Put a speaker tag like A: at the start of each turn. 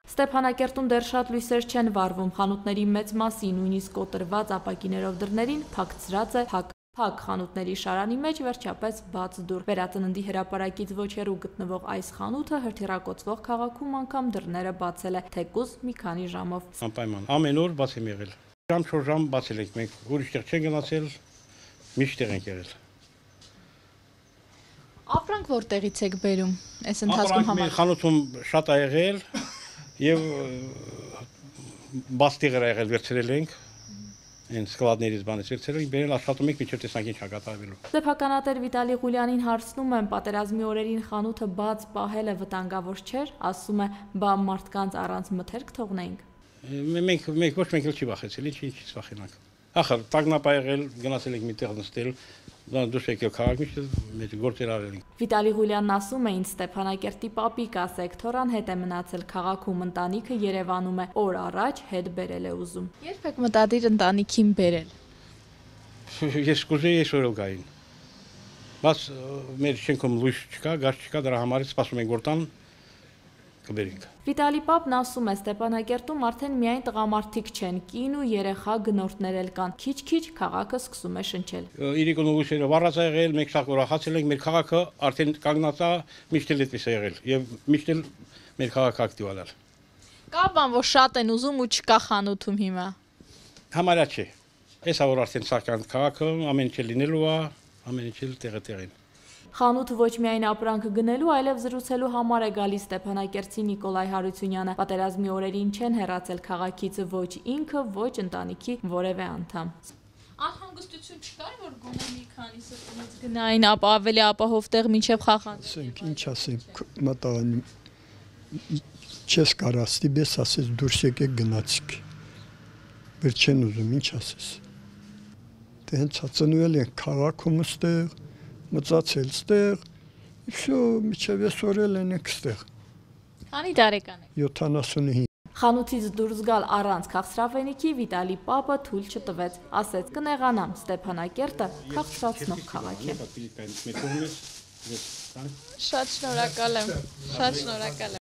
A: Ստեփանակերտում դեռ շատ լույսեր չեն վառվում, խանութների մեծ մասի, նույնիսկ կոտրված ապակիներով դռներին փակցրած է փակ խանութների շարանի մեջ վերջապես բաց դուռ։ Վերածննդի հրապարակից ոչ հեռու գտնվող այս խանութը հրթիռակոծվող քաղաքում անգամ դռները բացել է, թեկուզ մի քանի ժամով։
B: Անպայման ամեն օր բաց եմ եղել։ Ժամ-4 ժամ բացել ենք, մենք ուրիշ տեղ չենք գնացել, միշտ տեղ ենք եղել։
A: Ապրանք որտեղից եք բերում։ Այս ընթացքում
B: Ապրանք խանութում շատ ա եղել եւ բաց տեղեր ա եղել վերցրել ենք։ Այն սկլադներից բանից վերցրել ենք, բերել աշխատում ենք մինչև տեսանք ինչ ա կատարվելու։
A: Սեփականատեր Վիտալի Ղուլյանին հարցնում եմ, պատերազմի օրերին խանութը բաց պահելը վտանգավոր չէր, ասում է, բա մարդկանց առանց մթերք թողնեինք։
B: Մենք ոչ մեկ էլ չի վախեցել, ինչից վախենանք։ Ախր տագնապ ա եղել, գնացել ենք մի տեղ նստել, դուրս եկել քաղաք, միշտ գործեր արել ենք։
A: Վիտալի Ղուլյանն ասում է, ինձ Ստեփանակերտի պապիկ ասեք, Թորան հետ է մնացել քաղաքում, ընտանիքը Երևանում է, օր առաջ հետ բերել է ուզում։ Երբ եք մտադիր ընտանիքին բերել։
B: Ես կուզեի այսօր գային։ Բայց մեր շենքում լույս չկա, գազ չկա, դրա համար սպասում ենք որ տան կբերենք։
A: Վիտալի պապն ասում է, Ստեփանակերտում արդեն միայն տղամարդիկ չեն, կին ու երեխա գնորդներ էլ կան, քիչ-քիչ քաղաքը սկսում է շնչել։
B: Իրիկոն լույսերը վառած ա եղել, մենք շատ ուրախացել ենք, մեր քաղաքը արդեն կանգնած է, միշտ էլ այդպես է եղել եւ միշտ էլ մեր քաղաքը ակտիվ ալալ։
A: Կա բան, որ շատ են ուզում ու չկա խանութում հիմա։
B: Համարյա չէ։ Էսա որ արդեն սական քաղաքը ամեն ինչ լինելու է, ամեն ինչ էլ տեղը-տեղին։
A: Խանութը ոչ միայն ապրանքը գնելու, այլև զրուցելու համար է գալիս Ստեփանակերտցի Նիկոլայ Հարությունյանը։ Պատերազմի օրերին չեն հեռացել քաղաքից ոչ ինքը, ոչ ընտանիքի որևէ անդամ։ Անհանգստություն չկար, որ գոնե մի քանիսը տնից գնային, ապա ավելի ապահով տեղ մինչև խախանցենք։
C: Ինչ ասենք, մտան չես կարա ստիպես ասես դուրս եկեք գնացիք։ Որ չեն ուզում, ինչ ասես։ Դե հենց ծնվել են քաղաքում ստեղ մծացել ստեղ, всё, միջև այսօր էլ ենք ստեղ։
A: Քանի տարեկան եք։
C: 75։
A: Խանութից դուրս գալ առանց քաղցրավենիքի Վիտալի պապը թույլ չտվեց, ասեց կնեղանամ, Ստեփանակերտը քաղցրացնող քաղաք է։ Շատ շնորհակալ եմ, շատ շնորհակալ եմ։